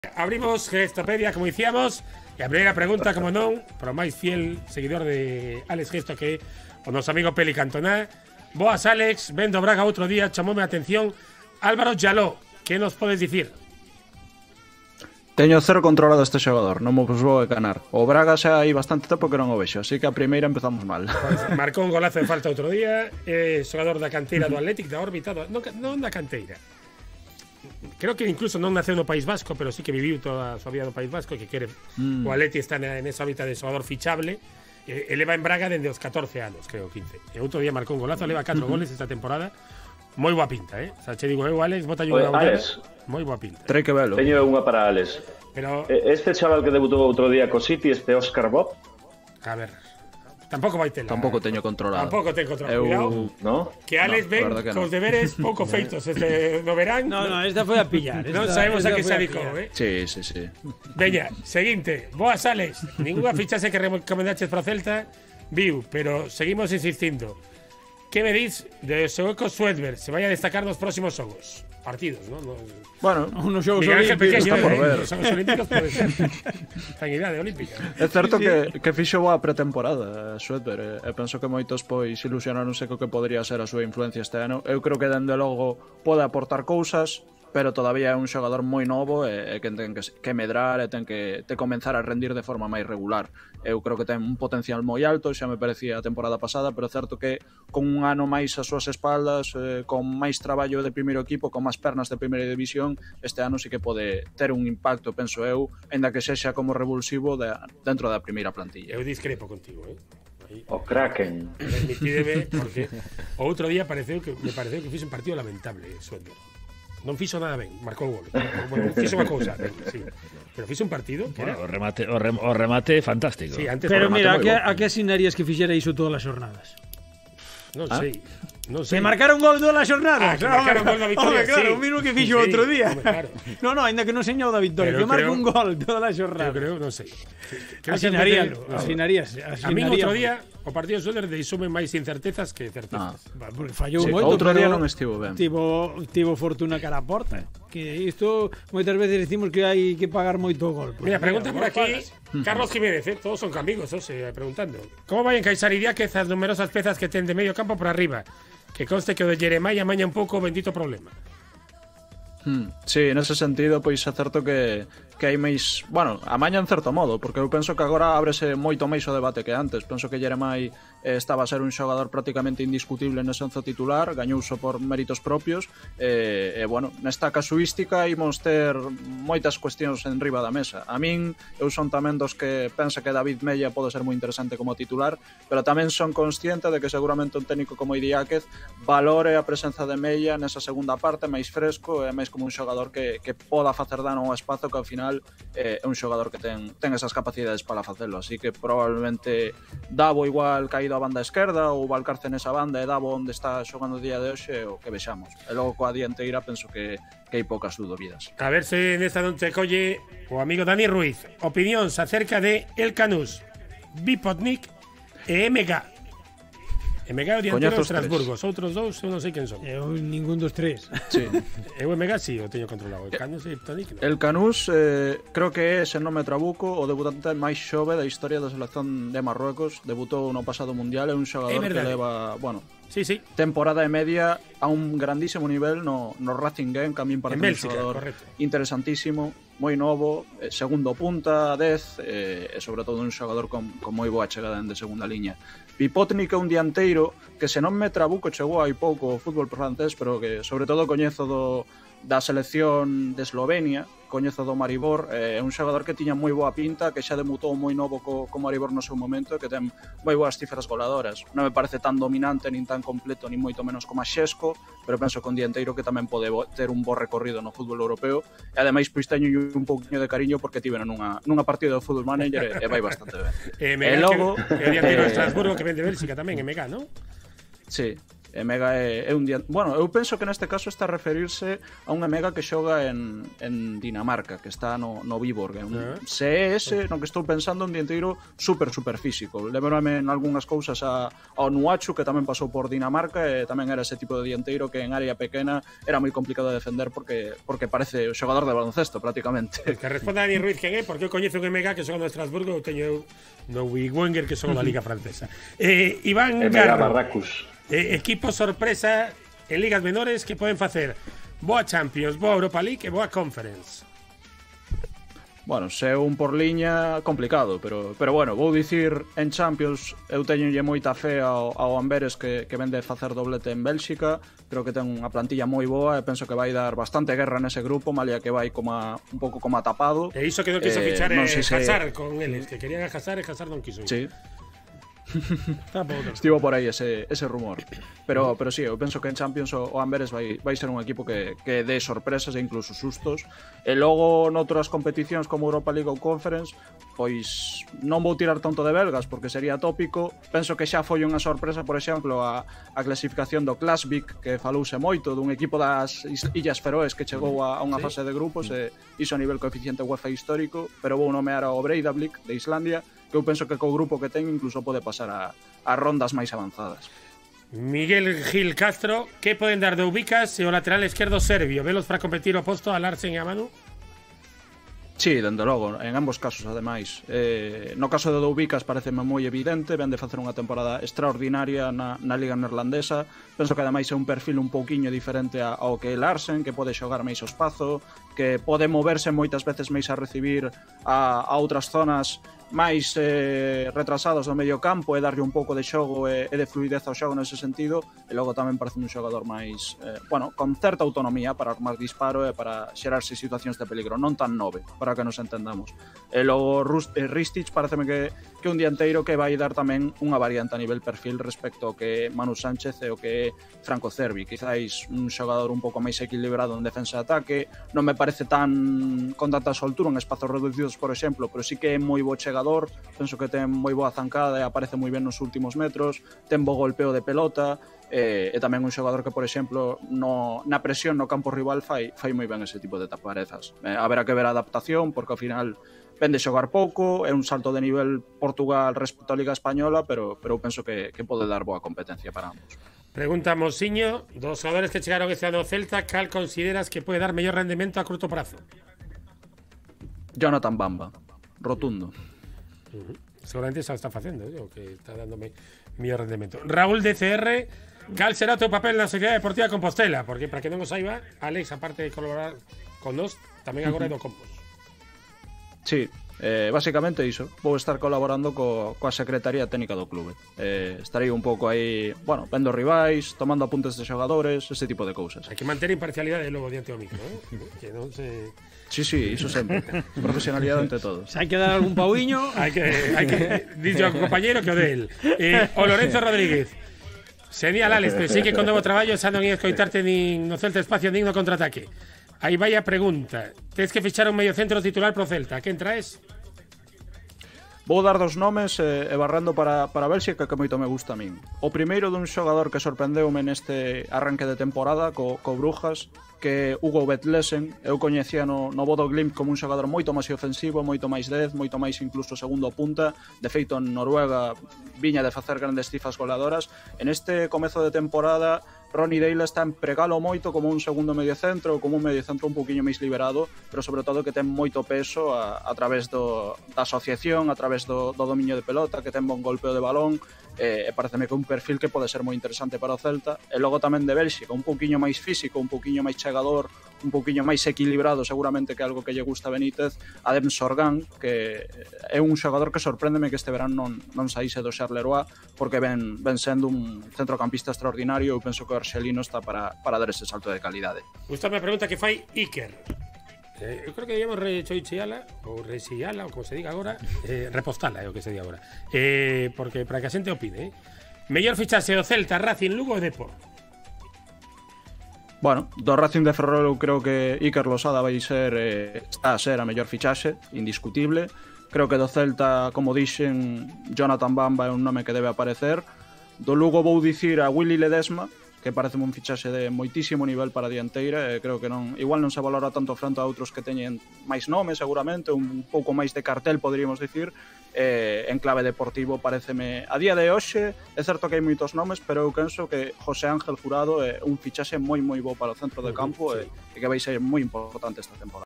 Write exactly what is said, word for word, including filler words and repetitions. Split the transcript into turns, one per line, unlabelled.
Abrimos Gestopedia, como dicíamos, e a primeira pregunta, como non, para o máis fiel seguidor de Alex Gesto, que é o noso amigo Peli Cantona. Boas, Alex, vendo Braga outro día, chamoume a atención Álvaro Llaló, que nos podes dicir?
Teño cero controlado este xogador, non me vos vou enganar. O Braga xa hai bastante tempo que non o vexo, así que a primeira empezamos mal.
Pues marcou un golazo de falta outro día, é xogador da canteira do Athletic, da órbita, do, non, non da canteira. Creo que incluso non naceu no País Vasco, pero sí que viviu toda a súa vida no País Vasco, que quere mm. o Atleti está en esa órbita de xogador fichable. Eh, eleva en Braga dende os catorce anos, creo, quince. E outro día marcou un golazo, leva catro uh-huh. goles esta temporada. Moi boa pinta, eh? O sea, che digo eu, Alex, bota unha bola. Moi boa pinta.
Trei que velo.
Teño unha para Alex.
Pero
este chaval que debutou outro día co City, este Óscar Bob.
A ver. Tampouco vai tela.
Tampouco teño controlado.
Tampouco ten controlado.
Eu...
Cuidado.
¿No?
Que Alex
no,
ven
que
cos
no.
deberes pouco feitos este no verán.
No, no, esta foi a pillar. Esta,
non sabemos a que se
foi
adicou, eh?
Sí, sí, sí.
Veña, seguinte. Boas, Alex. Ninguna fichase que recomendaches para o Celta viu, pero seguimos insistindo. Que me dis de Soeco Suedberg se vai a destacar nos próximos xogos? Partidos, ¿no? no
bueno,
unos xogos
olímpicos.
Pequeño,
Está
por
eh,
ver.
Os xogos olímpicos pode ser. Ten idade olímpica.
É certo sí, sí. que, que fixo boa pretemporada Suedberg, e penso que moitos pois ilusionaronse co que podría ser a súa influencia este ano. Eu creo que dende logo pode aportar cousas, pero todavía é un xogador moi novo e, e que ten que, que medrar e ten que te comenzar a rendir de forma máis regular. Eu creo que ten un potencial moi alto, xa me parecía a temporada pasada, pero é certo que con un ano máis as súas espaldas, eh, con máis traballo de primeiro equipo, con máis pernas de primeira división, este ano sí que pode ter un impacto, penso eu, ainda que sexa como revulsivo de, dentro da primeira plantilla.
Eu discrepo contigo, eh?
Aí. O Kraken.
Permitideme, porque o outro día pareceu que, me pareceu que fixe un partido lamentable, Suedberg. Non fixo nada ben, marcou gol. Bueno, fixo unha cousa, ben, sí. Pero fixo un partido que era...
Bueno, o remate, o, rem, o remate fantástico.
Sí, antes
pero mira, a que,
bon.
a que asinarías que fixera iso todas as xornadas?
Non
¿Ah?
sei. Non sei.
Que marcaron gol todas as xornadas.
Ah, que marcaron gol da victoria,
hombre, claro,
sí.
o mismo que fixo
Sí,
outro día.
hombre, claro.
No, no, ainda que non señou da victoria,
Pero
que marca
creo-
un gol todas as xornadas.
Eu creo, non sei. Creo que
Asinaríalo,
no.
asinarías,
A mí outro día o partido de Suedberg deixoume máis incertezas que certezas.
Va, porque fallou
Sí,
moito.
outro
pero
día non estivo ben.
Tivo, tivo fortuna cara a porta. Que isto moitas veces decimos que hai que pagar moito o gol.
Mira, pregunta por aquí Carlos Jiménez, eh? Todos son amigos, eh, preguntando. Como vai encaixar Idiáquez as numerosas pezas que ten de medio campo por arriba? Que conste que o de Jeremiah amaña un pouco o bendito problema.
Hmm, sí, nese sentido, pois é certo que, que hai máis... Bueno, amaña en certo modo, porque eu penso que agora ábrese moito máis o debate que antes. Penso que Jeremai eh, estaba a ser un xogador prácticamente indiscutible nese once titular, gañouso por méritos propios, e, eh, eh, bueno, nesta casuística imos ter moitas cuestións en riba da mesa. A min, eu son tamén dos que pensa que David Mella pode ser moi interesante como titular, pero tamén son consciente de que seguramente un técnico como Idiáquez valore a presenza de Mella nesa segunda parte, máis fresco e máis como un xogador que, que poda facer dano ao espazo, que ao final eh, é un xogador que ten, ten esas capacidades para facelo, así que probablemente Davo igual caído a banda esquerda ou Valcarce nesa banda e Davo onde está xogando o día de hoxe o que vexamos. E logo coa dianteira penso que, que hai poucas dúbidas.
A ver se nesta non te colle o amigo Dani Ruiz. Opinións acerca de El Canús, Bipotnik e M G. M G é o dianteiro de Estrasburgo. Os outros dous eu non sei quen son.
Eu ningún dos tres.
Sí.
Eu M G si o teño controlado. El Canús e Bipotnik non.
El Canús eh, creo que é, se non me trabuco, o debutante máis xove da historia da selección de Marruecos. Debutou no pasado mundial, é un xogador que leva, bueno,
sí, sí.
temporada e media a un grandísimo nivel no, no Racing Game, que a min parece un xogador
correcto.
interesantísimo, moi novo, eh, segundo punta, dez, eh, e sobre todo un xogador con, con moi boa chegada de segunda liña. Bipotnik é un dianteiro que, se non me trabuco, chegou hai pouco o fútbol francés, pero que sobre todo coñezo do, da selección de Eslovenia, coñezo do Maribor, é eh, un xogador que tiña moi boa pinta, que xa debutou moi novo co, co Maribor no seu momento e que ten moi boas cifras goladoras. Non me parece tan dominante, nin tan completo, nin moito menos como a Xesco, pero penso que un dianteiro que tamén pode ter un bo recorrido no fútbol europeo, e ademais pois teño un pouquinho de cariño porque tiveno nunha, nunha partida do Football Manager e, e vai bastante ben.
E, e logo... Que, que o dianteiro de Estrasburgo que ven de Bélxica tamén, M G, non?
Sí. Emega é, é un día... Bueno, eu penso que neste caso está a referirse a un Emega que xoga en, en Dinamarca, que está no, no Viborg. Un, uh -huh. Se é ese, no que estou pensando, un dianteiro super, super físico. Lembrame en algunhas cousas a, ao Nuachu, que tamén pasou por Dinamarca, e tamén era ese tipo de dianteiro que en área pequena era moi complicado de defender porque porque parece o xogador de baloncesto, prácticamente.
Pues que responda Dani Ruiz quen é, porque eu coñezo un Emega que xoga no Estrasburgo, eu teño no Wenger que xoga na Liga Francesa. Eh, Iván Garro.
Barracus.
Eh, equipo sorpresa en ligas menores que poden facer boa Champions, boa Europa League e boa Conference.
Bueno, se un por liña, complicado, pero pero bueno, vou dicir en Champions eu teñolle moita fe ao, ao Amberes que, que vende facer doblete en Bélxica. Creo que ten unha plantilla moi boa e penso que vai dar bastante guerra nese grupo, malia que vai como a, un pouco como a tapado.
E iso que non quiso
eh,
fichar
non
e
sei se...
Hazard con eles, que querían a Hazard e Hazard non quiso ir.
Sí. Estivo por aí ese, ese rumor. Pero, pero sí, eu penso que en Champions o, o Amberes vai, vai ser un equipo que, que dé sorpresas e incluso sustos. E logo noutras competicións como Europa League ou Conference, pois non vou tirar tanto de belgas porque sería tópico. Penso que xa foi unha sorpresa, por exemplo, a, a clasificación do Klasvik, que falouse moito dun equipo das Illas Feroes que chegou a, a unha fase de grupos e iso a nivel coeficiente UEFA histórico, pero vou nomear ao Breiðablik de Islandia, que eu penso que co grupo que ten incluso pode pasar a, a rondas máis avanzadas.
Miguel Gil Castro, que poden dar de Ubicas e o lateral esquerdo serbio? Velos para competir oposto a Larsen e a Manu?
Sí, dende logo, en ambos casos, ademais. Eh, no caso de Doubicas pareceme moi evidente, ven de facer unha temporada extraordinaria na, na Liga Neerlandesa. Penso que ademais é un perfil un pouquiño diferente a, ao que é Larsen, que pode xogar máis ao espazo, que pode moverse moitas veces máis a recibir a, a outras zonas máis eh, retrasados do medio campo e darlle un pouco de xogo e, e de fluidez ao xogo nese sentido, e logo tamén parece un xogador máis eh, bueno, con certa autonomía para armar disparo e para xerarse situacións de peligro, non tan nove, para que nos entendamos. E logo Rust, eh, Ristic pareceme que, que un dianteiro que vai dar tamén unha variante a nivel perfil respecto ao que Manu Sánchez e o que é Franco Cervi, quizáis un xogador un pouco máis equilibrado en defensa e ataque, non me parece tan con tanta soltura en espazos reducidos, por exemplo, pero sí que é moi bo chegador. Penso que ten moi boa zancada e aparece moi ben nos últimos metros, ten bo golpeo de pelota e, e tamén un xogador que, por exemplo, no, na presión no campo rival fai, fai moi ben ese tipo de taparezas. Eh, haberá que ver a adaptación, porque ao final ven de xogar pouco, é un salto de nivel Portugal respecto á Liga Española, pero, pero eu penso que, que pode dar boa competencia para ambos.
Pregunta Mosiño, dos xogadores que chegaron este ano ao Celta, cal consideras que pode dar mellor rendemento a curto prazo?
Jonathan Bamba, rotundo.
Uh-huh. Seguramente xa está facendo, o que está dándome mellor rendemento. Raúl D C R, cal será o teu papel na Sociedade Deportiva Compostela? Porque para que non o saiba, Alex, aparte de colaborar con nós, tamén agora é do Compos.
Sí, eh, basicamente iso. Vou estar colaborando co, coa Secretaría Técnica do clube. Eh, estarei un pouco aí, bueno, vendo rivais, tomando apuntes de xogadores, ese tipo de cousas.
Hai que manter imparcialidade logo diante do micro, eh? Que non se...
Sí, sí, iso sempre. Profesionalidade ante todo.
Se hai que dar algún pauiño,
hai que, hai que dixo ao compañeiro que o de él. Eh, o Lorenzo Rodríguez. Sería Alex, pero sí que con novo traballo xa non ia escoitarte nin no Celta Espacio nin no contraataque. Aí vai a pregunta. Tens que fichar un medio centro titular pro Celta. Quen traes?
Vou dar dos nomes e, e barrando para, para Bélxica, que moito me gusta a min. O primeiro dun xogador que sorprendeume neste arranque de temporada co, co Brujas, que Hugo Vetlesen. Eu coñecía no, no Bodo Glimt como un xogador moito máis ofensivo, moito máis dez, moito máis incluso segundo punta. De feito, en Noruega viña de facer grandes cifras goleadoras. En este comezo de temporada, Ronny Deila está en pregalo moito como un segundo medio centro, como un medio centro un poquinho máis liberado, pero sobre todo que ten moito peso a, a través do, da asociación, a través do, do dominio de pelota, que ten bon golpeo de balón, e, e pareceme que un perfil que pode ser moi interesante para o Celta. E logo tamén de Bélxica, un poquinho máis físico, un poquinho máis chegador, un poquinho máis equilibrado, seguramente que é algo que lle gusta a Benítez, Adem Sorgan, que é un xogador que sorpréndeme que este verán non, non saíse do Charleroi, porque ven, ven sendo un centrocampista extraordinario. Eu penso que o arxelino está para, para dar ese salto de calidade.
Gustame a pregunta que fai Iker. Eh, eu creo que digamos rechoichiala ou rexiala, ou como se diga agora, eh, repostala é o que se diga agora. Eh, porque para que a xente opine, eh? Mellor fichase do Celta, Racing, Lugo e Depor.
Bueno, do Racing de Ferrol eu creo que Iker Losada vai ser, eh, está a ser a mellor fichaxe, indiscutible. Creo que do Celta, como dixen, Jonathan Bamba é un nome que debe aparecer. Do Lugo vou dicir a Willy Ledesma, que parece un fichaxe de moitísimo nivel para a dianteira, e creo que non, igual non se valora tanto frente a outros que teñen máis nome, seguramente, un pouco máis de cartel, poderíamos dicir. Eh, en clave deportivo pareceme a día de hoxe, é certo que hai moitos nomes, pero eu penso que José Ángel Jurado é un fichaxe moi moi bo para o centro de campo, uh -huh, sí. e, e que vai ser moi importante esta temporada.